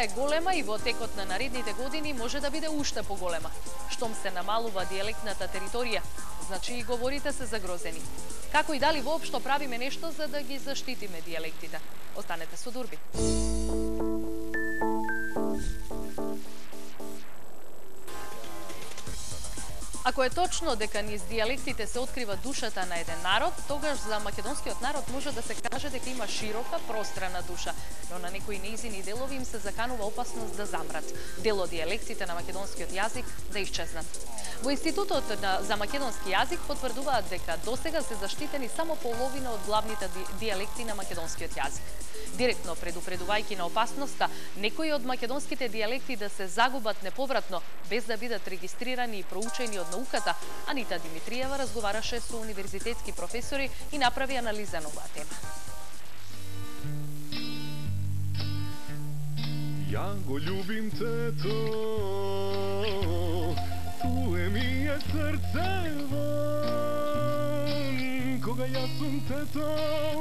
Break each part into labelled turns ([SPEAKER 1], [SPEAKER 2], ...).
[SPEAKER 1] е голема и во текот на наредните години може да биде уште поголема. Штом се намалува диелектната територија, значи и говорите се загрозени. Како и дали воопшто правиме нешто за да ги заштитиме диелектите? Останете со Дурби. Ако е точно дека низ диелектите се открива душата на еден народ, тогаш за македонскиот народ може да се каже дека има широка, пространа душа, но на некои нејзини делови им се заканува опасност да замрат, дел од диелектите на македонскиот јазик да исчезнат. Во Институтот за македонски јазик потврдуваат дека досега се заштитени само половина од главните диелекти на македонскиот јазик. Директно предупредувајќи на опасноста некои од македонските диелекти да се загубат неповратно без да бидат регистрирани и проучени од науката, Анита Димитриева разговараше со универзитетски професори и направи анализа на оваа тема.
[SPEAKER 2] Ја го љубим тето, туе ми е срцево, кога јас сум тето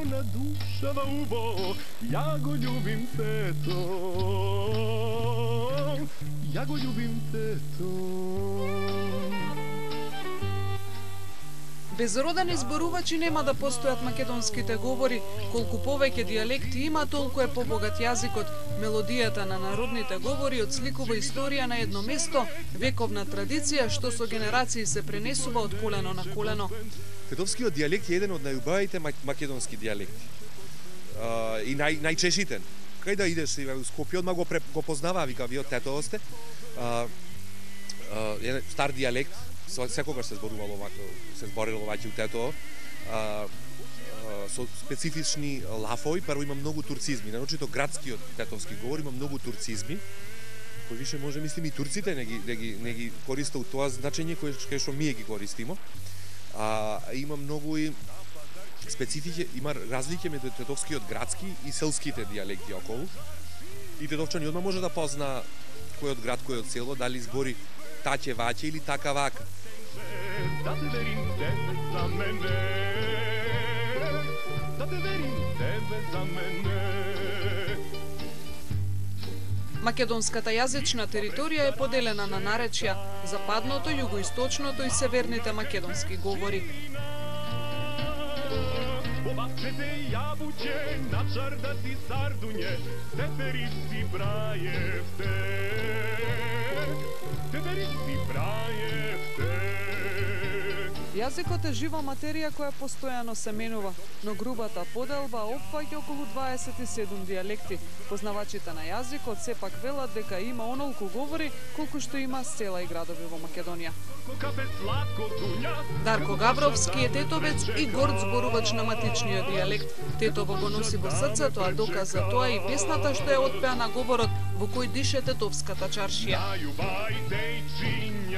[SPEAKER 2] на душава убо, ја го љубим тето, ја го љубим тето.
[SPEAKER 3] Без родени зборувачи нема да постојат македонските говори. Колку повеќе диелекти има, толку е побогат јазикот. Мелодијата на народните говори отсликува историја на едно место, вековна традиција што со генерации се пренесува од колено на колено.
[SPEAKER 4] Тетовскиот дијалект е еден од најубавите македонски дијалекти. И најчешитен. Кај да идеш во Скопје, одма го познаваа, вика, вие од Тетово сте. Стар дијалект, секогаш се зборувало овако, се зборело ваќе у Тетово, со специфични лафови. Прво има многу турцизми, наочито градскиот тетовски говор има многу турцизми, кои више може мислим и турците не ги користат тоа значење кое што ние ги користимо. Има многу и специфики, има разлики меѓу тетовскиот градски и селските дијалекти околу. И тетовчани одма може да позна кој од град, кој од село, дали збори таќе ваќе или така вака.
[SPEAKER 2] Да те верим тебе за мене, да те верим тебе за мене.
[SPEAKER 3] Македонската јазична територија е поделена на наречја, западното, југоисточното и северните македонски говори.
[SPEAKER 2] Оваквете јабуќе, на чардати сардуње, тетерици брајевте, тетерици брајевте.
[SPEAKER 3] Јазикот е жива материја која постојано се менува, но грубата поделба опфаќа околу 27 дијалекти. Познавачите на јазикот сепак велат дека има онолку говори колку што има села и градови во Македонија. Дарко Гавровски е тетовец и горд зборувач на матичниот дијалект. Тетово го носи во срцето, а доказ за тоа и песната што е отпеа на говорот во кој дише тетовската чаршија.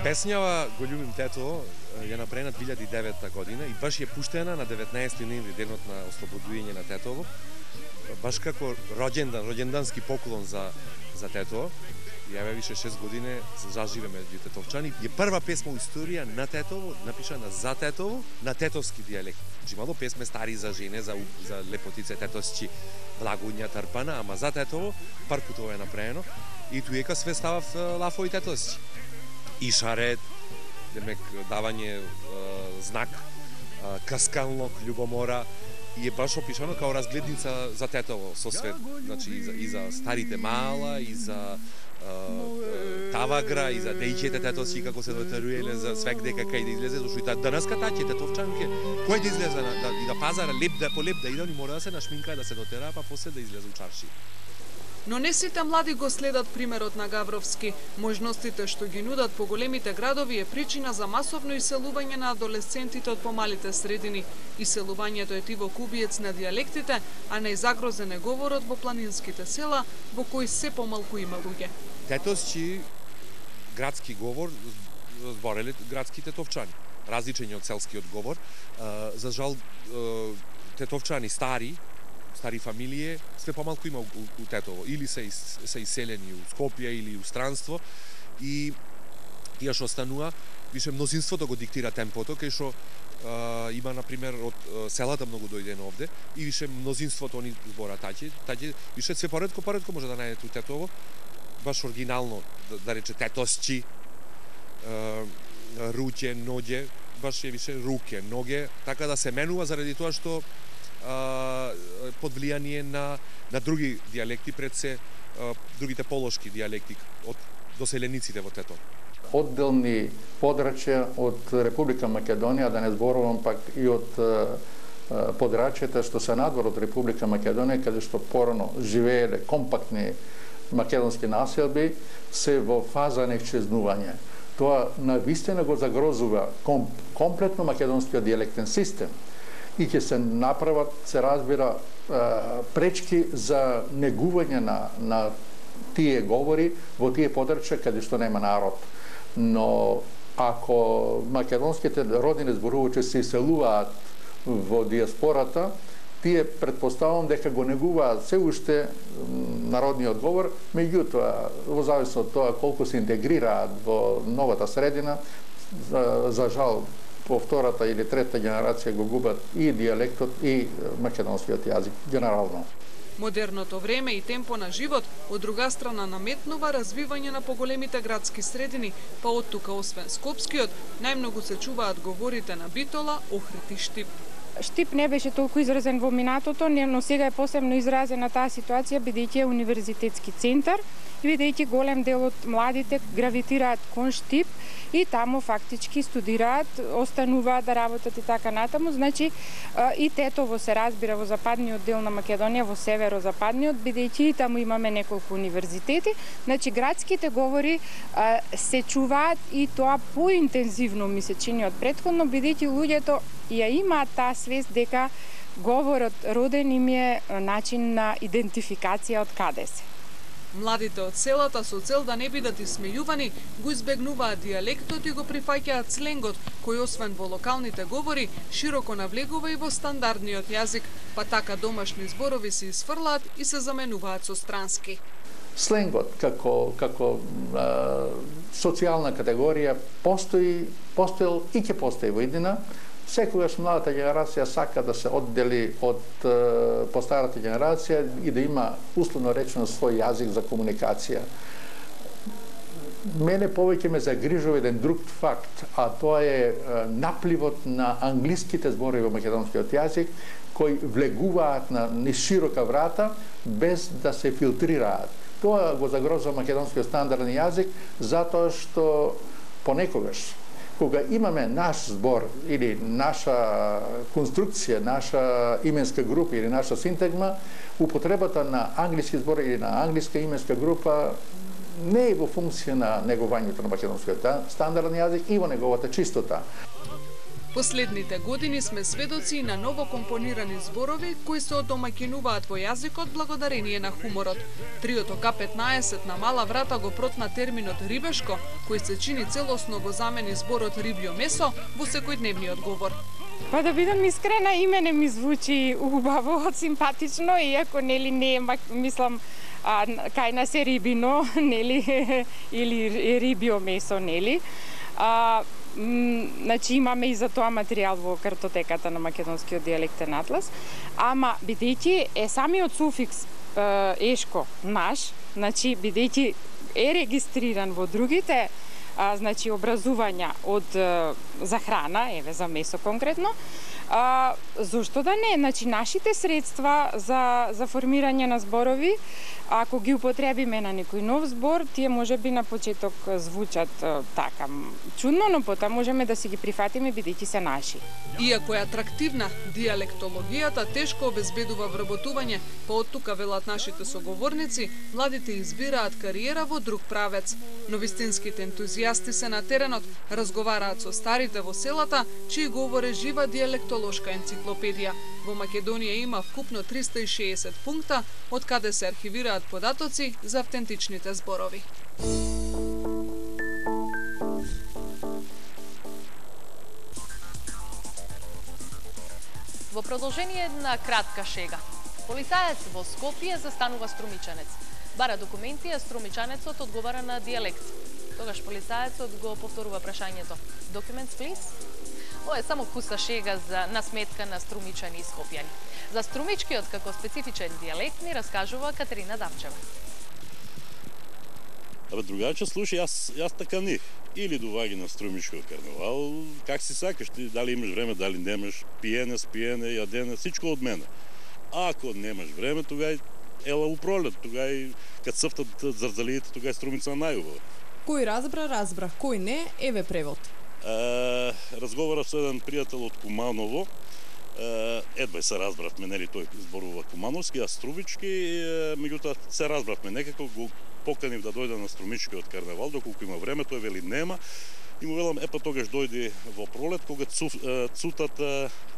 [SPEAKER 4] Песњава "Го љубим Тетово" ја направена 2009 година и баш ја пуштена на 19 ноември, денот на ослободување на Тетово, баш како роѓендански поклон за Тетово. Ја више 6 години заживеме меѓу тетовчани. Е прва песма во историја на Тетово, напишана за Тетово, на тетовски дијалект. Имало песме стари за жене, за лепотице тетосчи, благуња, трпана, ама за Тетово прв пат ова е направено. И туека све става лафови тетосчи. И шарет, демек давање знак, каскалнок, љубомора, и е баш опишано као разгледница за Тетово со свет, значи и за старите мала, и за Тавагра, и за дејчете тетовски како се дотеруеле за свек дека кај да излезе, зашто и данаска таќе тетовчанке, кој да излезе и да пазара леп да по леп да иде, мора да се нашминка, да се дотера, па после да излезе у чарши.
[SPEAKER 3] Но не сите млади го следат примерот на Гавровски. Можностите што ги нудат по големите градови е причина за масовно иселување на адолесцентите од помалите средини. Иселувањето е тивок убиец на дијалектите, а не загрозен е говорот во планинските села, во кои се помалку има луѓе.
[SPEAKER 4] Тетосчи градски говор збореле градски тетовчани, различен од селскиот говор. За жал тетовчани стари фамилии, све помалку има у Тетово. Или се иселени у Скопје или у странство. И тие што останува, више мнозинството го диктира темпото, кај што има, например, од селата многу дојдено овде и више мнозинството они збора таќе, више све поредко може да најдете у Тетово, баш оригинално, да рече тетосчи, руќе, ноѓе, баш е више руке, ноге, така да се менува заради тоа што под влијание на други дијалекти, пред се другите полошки дијалекти од доселениците во Тетово.
[SPEAKER 5] Одделни подрачја од Република Македонија, да не зборувам пак и од подрачјата што се надвор од Република Македонија, каде што порано живееле компактни македонски населби, се во фаза на исчезнување. Тоа навистина го загрозува комплетно македонскиот дијалектен систем и ќе се направат, се разбира, пречки за негување на тие говори во тие подрачја каде што нема народ. Но ако македонските родини зборувачи се иселуваат во диаспората, тие предпоставувам дека го негуваат се уште народниот говор, меѓутоа, во зависност од тоа колку се интегрираат во новата средина, за жал, по втората или трета генерација го губат и дијалектот и македонскиот јазик генерално.
[SPEAKER 3] Модерното време и темпо на живот од друга страна наметнува развивање на поголемите градски средини, па од тука освен скопскиот, најмногу се чуваат говорите на Битола, Охрид и Штип.
[SPEAKER 6] Штип не беше толку изразен во минатото, но сега е посебно изразена таа ситуација бидејќи е универзитетски центар, бидејќи голем дел од младите гравитираат кон Штип и таму фактички студираат, остануваат да работат и така натаму. Значи и Тетово се разбира во западниот дел на Македонија, во северозападниот, бидејќи и таму имаме неколку универзитети. Значи градските говори се чуваат и тоа поинтензивно ми се чини од претходно, бидејќи луѓето ја имаат таа свест дека говорот роден им е начин на идентификација од каде се.
[SPEAKER 3] Младите од селата со цел да не бидат исмејувани, го избегнуваат дијалектот и го прифаќаат сленгот, кој освен во локалните говори, широко навлегува и во стандардниот јазик, па така домашни зборови се изфрлаат и се заменуваат со странски.
[SPEAKER 5] Сленгот како социјална категорија постоел и ќе постои во иднина. Секогаш младата генерација сака да се оддели од постарата генерација и да има условно речено свој јазик за комуникација. Мене повеќе ме загрижува еден друг факт, а тоа е напливот на англиските зборови во македонскиот јазик, кои влегуваат на широка врата без да се филтрираат. Тоа го загрозува македонскиот стандарден јазик, затоа што понекогаш кога имаме наш збор или наша конструкција, наша именска група или наша синтагма, употребата на англиски збор или на англиска именска група не е во функција на негувањето на македонскиот стандарден јазик и во неговата чистота.
[SPEAKER 3] Последните години сме сведоци на ново компонирани зборови кои се одомаќинуваат во јазикот благодарение на хуморот. Триото К15 на мала врата го протна терминот рибешко, кој се чини целосно го замени зборот рибјо месо во секојдневниот говор.
[SPEAKER 6] Па да бидам искрена, име не ми звучи убаво, симпатично, иако нели не мислам кај нас е рибино, нели, или рибјо месо, нели. Значи имаме и за тоа материјал во картотеката на македонскиот дијалектен атлас, ама бидејќи е самиот суфикс ешко наш, значи бидејќи е регистриран во другите значи образувања од за храна, еве за месо конкретно, зошто да не? Значи нашите средства за формирање на зборови, ако ги употребиме на некој нов збор, тие можеби на почеток звучат така чудно, но потоа можеме да си ги прифатиме бидејќи се наши.
[SPEAKER 3] Иако е атрактивна, дијалектологијата тешко обезбедува вработување, па од тука велат нашите соговорници, младите избираат кариера во друг правец. Но вистинските ентузијасти се на теренот, разговараат со старите во селата, чии говор е жива дијалектолошка енциклопедија. Во Македонија има вкупно 360 пункта, од каде се архивираат податоци за автентичните зборови.
[SPEAKER 1] Во продолжение на кратка шега. Полицаец во Скопје застанува струмичанец. Бара документи, а струмичанецот одговара на дијалект. Тогаш полицаецот го повторува прашањето. Documents, please? Ова е само куса шега за насметка на струмичани и скопјани. За струмичкиот како специфичен дијалект ни раскажува Катерина Дамчева.
[SPEAKER 7] Абе, другарче, слушай, јас така не. Или доваѓа на струмичкиот карневал, как си сакаш ти, дали имаш време, дали немаш, пиене, спиене, јадене, всичко од мене. Ако немаш време, тогај ела у пролет, тогај кад црфтат зарзалиите, тогај струмица најубава.
[SPEAKER 8] Кој разбра, кој не, еве превод.
[SPEAKER 7] Разговарав со еден пријател од Куманово, едва се разбравме, нели тој зборува кумановски, а струмички, меѓутоа се разбравме, некако го поканив да дојде на струмичкиот карневал, доколку има време, тој вели нема, и му велам, епа тогаш дојди во пролет, кога цутат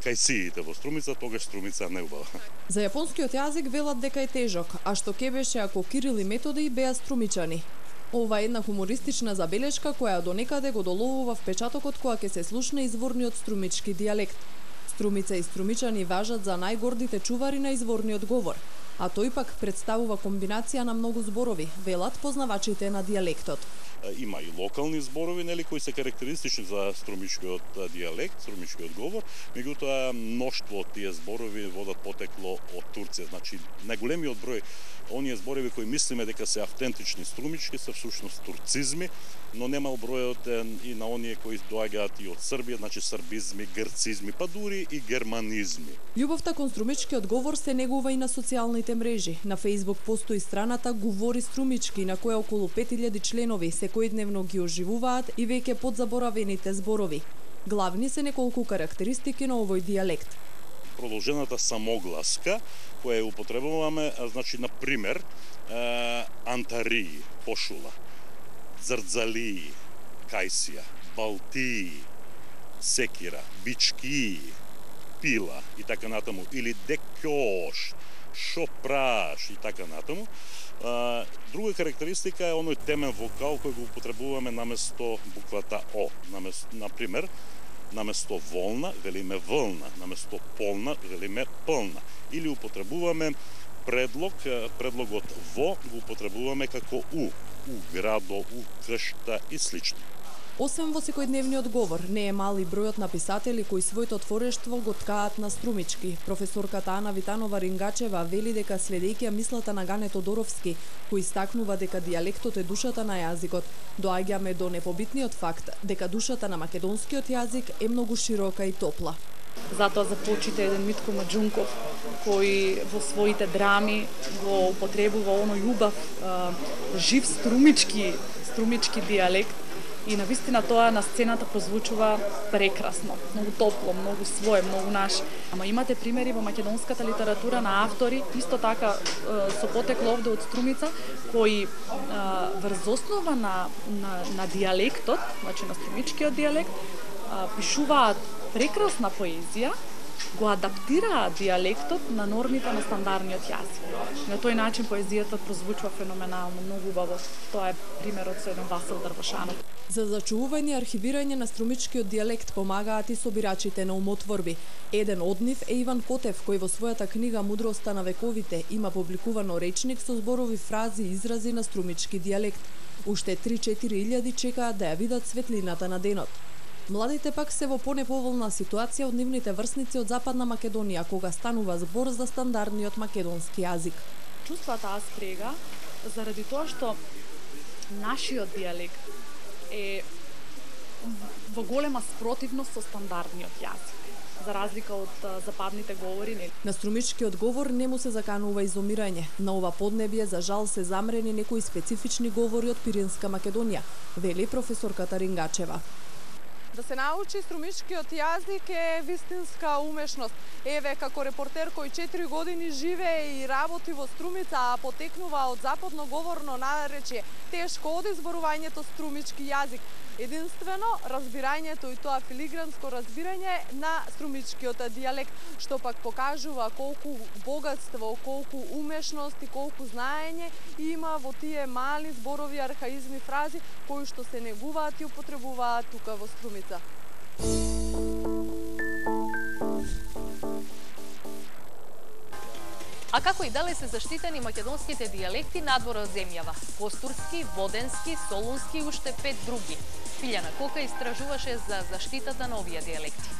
[SPEAKER 7] кајсиите во струмица, тогаш струмица не убава.
[SPEAKER 8] За јапонскиот јазик велат дека е тежок, а што ке беше ако Кирил и Методи беа струмичани. Ова е една хумористична забелешка која до некаде го доловува впечатокот која ќе се слушне изворниот струмички дијалект. Струмица и струмичани важат за најгордите чувари на изворниот говор, а тој пак представува комбинација на многу зборови, велат познавачите на дијалектот.
[SPEAKER 7] Има и локални зборови, нели, кои се карактеристични за струмичкиот дијалект, струмичкиот говор, меѓутоа мноштво од тие зборови водат потекло од Турција. Значи, најголемиот број оние зборови кои мислиме дека се автентични струмички се всушност турцизми, но немал бројот и на оние кои доаѓаат и од Србија, значи србизми, грцизми, па дури и германизми.
[SPEAKER 8] Љубовта кон струмичкиот говор се негува и на социјалните мрежи. На Facebook постои страната Говори струмички, на која околу 5000 членови секојдневно ги оживуваат и веќе подзаборавените зборови. Главни се неколку карактеристики на овој дијалект.
[SPEAKER 7] Продолжената самогласка, која ја употребуваме, значи, на пример, антарии, пошула, зрдзалии, кајсија, балтии, секира, бички, пила и така натаму, или декјош, шопраш и така натаму. Друга карактеристика е оној темен вокал кој го употребуваме наместо буквата О. Например, наместо волна велиме вълна, наместо полна велиме пълна. Или употребуваме предлогот во го употребуваме како у градо, у кшта и слично.
[SPEAKER 8] Освен во секојдневниот говор, не е мал и бројот на писатели кои своето творештво го ткаат на струмички. Професорката Ана Витанова-Рингачева вели дека следејќи мислата на Гане Тодоровски, кој истакнува дека дијалектот е душата на јазикот, доаѓаме до непобитниот факт дека душата на македонскиот јазик е многу широка и топла.
[SPEAKER 9] Затоа за почита еден Митко Маџунков, кој во своите драми го употребува оној убав, жив струмички дијалект. И навистина тоа на сцената прозвучува прекрасно, многу топло, многу свое, многу наше. Ама имате примери во македонската литература на автори, исто така со потекло овде од струмица, кои врз основа на дијалектот, значи на струмичкиот дијалект, пишуваат прекрасна поезија, го адаптираат дијалектот на нормите на стандардниот јазик. На тој начин поезијата прозвучува феноменално, многу убаво. Тоа е примерот со еден Васил Дрвашанов.
[SPEAKER 8] За зачувување и архивирање на струмичкиот дијалект помагаат и собирачите на умотворби. Еден од нив е Иван Котев, кој во својата книга Мудроста на вековите има публикувано речник со зборови, фрази и изрази на струмички дијалект. Уште 3-4 илјади чекаат да ја видат светлината на денот. Младите пак се во понеповолна ситуација од нивните врсници од Западна Македонија, кога станува збор за стандардниот македонски јазик.
[SPEAKER 9] Чувствата аз прега заради тоа што нашиот дијалект е во голема спротивност со стандардниот јазик, за разлика од западните говори.
[SPEAKER 8] На струмичкиот говор не му се заканува изумирање. На ова поднебје за жал се замрени некои специфични говори од Пиринска Македонија, вели професорката Рингачева.
[SPEAKER 10] Да се научи струмичкиот јазик е вистинска умешност. Еве, како репортер кој 4 години живее и работи во Струмица, а потекнува од западно говорно наречје, тешко оди зборувањето струмички јазик. Единствено, разбирањето и тоа филигранско разбирање на струмичкиот дијалект, што пак покажува колку богатство, колку умешност и колку знаење има во тие мали зборови, архаизми, фрази, кои што се негуваат и употребуваат тука во Струмица.
[SPEAKER 1] А како и дали се заштитени македонските дијалекти надвор од земјава? Костурски, Воденски, Солунски и уште 5 други. Филјана Кока истражуваше за заштитата на овие дијалекти.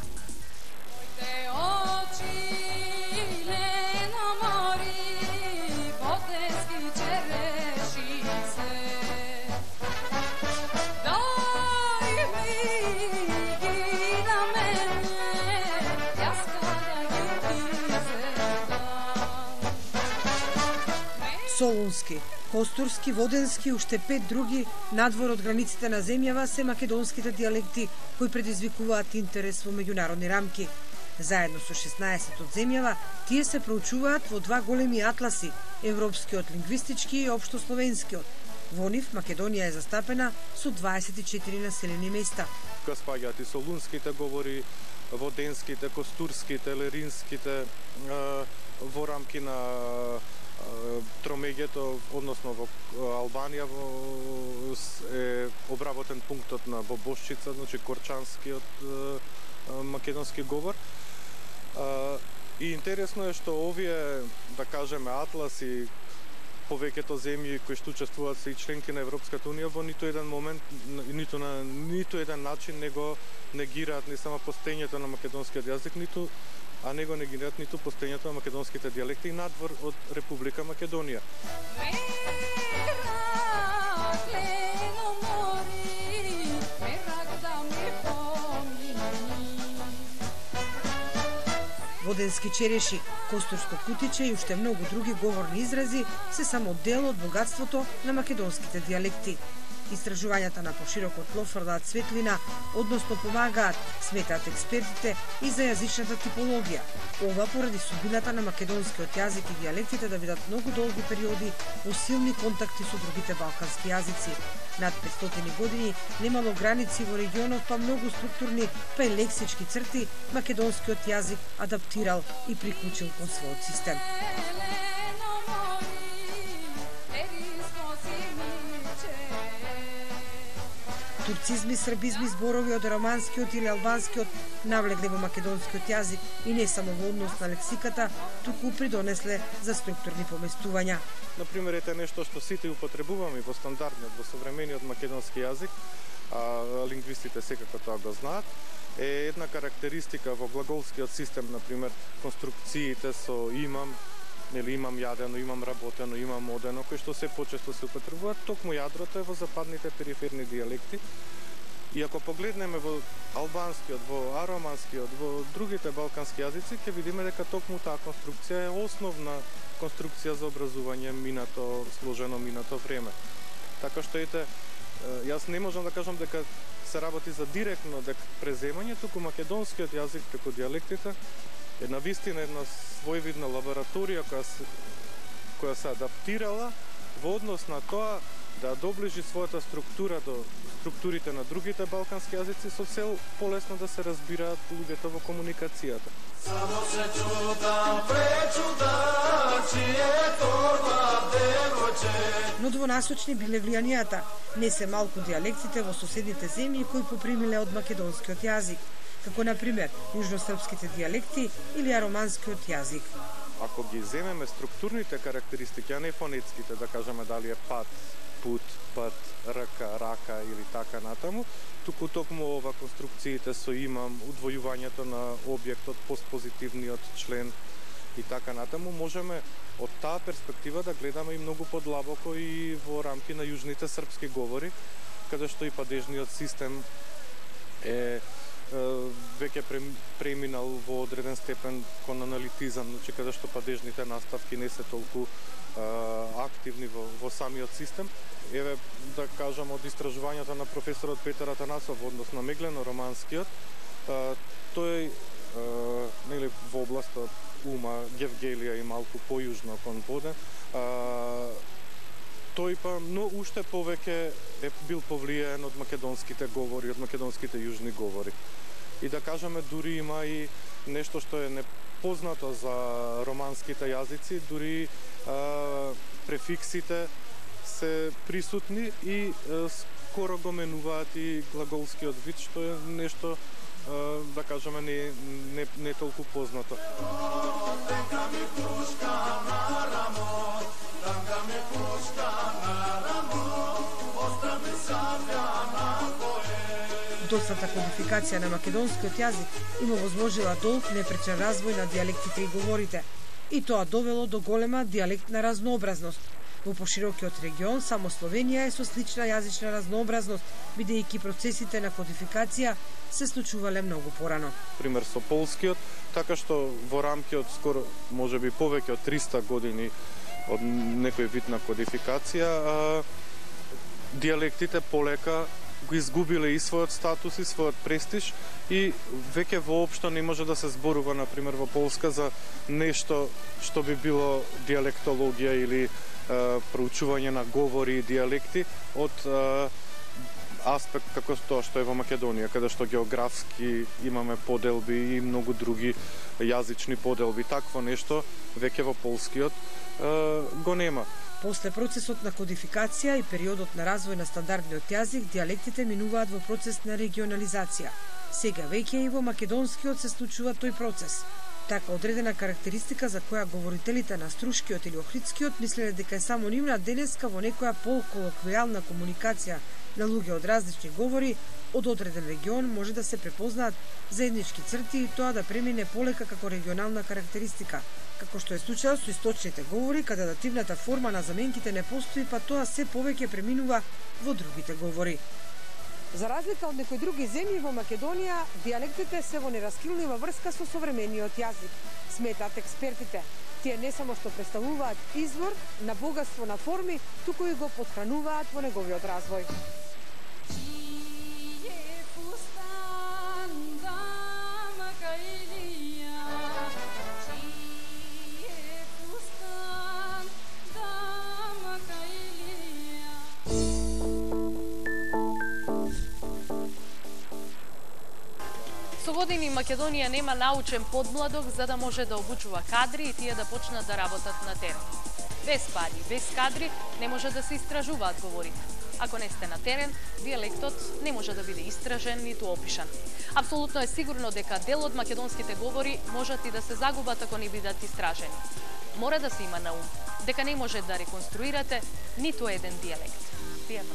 [SPEAKER 11] Солунски, Костурски, Воденски и уште 5 други надвор од границите на земјава се македонските дијалекти кои предизвикуваат интерес во меѓународни рамки. Заедно со 16 од земјава, тие се проучуваат во два големи атласи, европскиот лингвистички и општословенскиот. Во нив Македонија е застапена со 24 населени места.
[SPEAKER 12] Тука спаѓаат и солунските говори, воденските, костурските, леринските, во рамки на тромеѓето, односно во Албанија е обработен пунктот на Бобошчица, значи корчанскиот македонски говор. И интересно е што овие, да кажеме, атласи, повеќето земји кои што учествуваат се и членки на Европската унија, во ниту еден момент, ниту еден начин не го негираат не само постоењето на македонскиот јазик, а не го негираат ниту постоењето на македонските дијалекти и надвор од Република Македонија.
[SPEAKER 11] Воденски череши, костурско кутиче и уште многу други говорни изрази се само дел од богатството на македонските дијалекти. Истражувањата на поширокот тло фрлаат светлина, односно помагаат, сметаат експертите, и за јазичната типологија. Ова поради судбината на македонскиот јазик и дијалектите да бидат многу долги периоди во силни контакти со другите балкански јазици. Над 500 години немало граници во регионот, па многу структурни, па и лексички црти, македонскиот јазик адаптирал и приклучил кон својот систем. Турцизми, србизми, зборови од романскиот или албанскиот навлегле во македонскиот јазик и не само во однос на лексиката, туку придонесле за структурни поместувања.
[SPEAKER 12] Например, ете нешто што сите употребуваме во стандардниот, во современиот македонски јазик, а лингвистите секако тоа го знаат, е една карактеристика во глаголскиот систем, например, конструкциите со имам, или имам јадено, имам работено, имам одено, кои што се почесто се употребуваат, токму јадрото е во западните периферни дијалекти. И ако погледнеме во албанскиот, во ароманскиот, во другите балкански јазици, ќе видиме дека токму таа конструкција е основна конструкција за образување сложено минато време. Така што ете, јас не можам да кажам дека се работи за директно преземање, туку македонскиот јазик преку дијалектите е навистина една своевидна лабораторија која се адаптирала во однос на тоа да доближи својата структура до структурите на другите балкански јазици со цел полесно да се разбираат луѓето во комуникацијата. Само се чудам, пречудам, чие торба девојче.
[SPEAKER 11] Но двонасочни биле влијанијата. Не се малку дијалектите во соседните земји кои попримиле од македонскиот јазик, како например јужносрпските дијалекти или ароманскиот јазик.
[SPEAKER 12] Ако ги земеме структурните карактеристики, а не фонетските, да кажеме дали е пат, пут, пат, рка, рака или така натаму, туку токму ова конструкциите со имам, удвојувањето на објектот, постпозитивниот член и така натаму, можеме од таа перспектива да гледаме и многу подлабоко и во рамки на јужните српски говори, каде што и падежниот систем е веќе преминал во одреден степен кон аналитизам, значи каде што падежните наставки не се толку активни во самиот систем. Еве, да кажам, од истражувањата на професорот Петар Атанасов во однос на меглено-романскиот, тој нели во областот Ума, Гевгелија и малку појужно кон Воден, тој па, но уште повеќе е бил повлијаен од македонските говори, од македонските јужни говори. И да кажеме, дури има и нешто што е непознато за романските јазици, дури префиксите се присутни и скоро го менуваат и глаголскиот вид, што е нешто да кажеме не толку познато.
[SPEAKER 11] Доцната кодификација на македонскиот јазик им овозможила долг непречен развој на дијалектите и говорите. И тоа довело до голема дијалектна разнообразност. Во поширокиот регион само Словенија е со слична јазична разнообразност, бидејќи процесите на кодификација се случувале многу порано.
[SPEAKER 12] Пример со полскиот, така што во рамки од скоро можеби повеќе од 300 години од некој вид на кодификација, дијалектите полека го изгубиле и својот статус и својот престиж и веќе воопшто не може да се зборува, например, во Полска за нешто што би било дијалектологија или проучување на говори и дијалекти од аспект како тоа што е во Македонија, каде што географски имаме поделби и многу други јазични поделби. Такво нешто веќе во полскиот го нема.
[SPEAKER 11] После процесот на кодификација и периодот на развој на стандардниот јазик, дијалектите минуваат во процес на регионализација. Сега веќе и во македонскиот се случува тој процес. Така одредена карактеристика за која говорителите на струшкиот или охридскиот мислеле дека е само нивна, денеска во некоја полколоквијална комуникација на луѓе од различни говори од одреден регион може да се препознаат заеднички црти и тоа да премине полека како регионална карактеристика, како што е случајот со источните говори, каде дативната форма на заменките не постои, па тоа се повеќе преминува во другите говори. За разлика од некои други земји во Македонија, дијалектите се во нераскилнива врска со современиот јазик, сметаат експертите. Тие не само што представуваат извор на богатство на форми, туку и го потхрануваат во неговиот развој.
[SPEAKER 1] Со години Македонија нема научен подмладок за да може да обучува кадри и тие да почнат да работат на терен. Без пари, без кадри не може да се истражуваат говорите. Ако не сте на терен, дијалектот не може да биде истражен ниту опишан. Апсолутно е сигурно дека дел од македонските говори можат и да се загубат ако не бидат истражени. Мора да се има на ум дека не може да реконструирате ниту еден дијалект. Пријатно.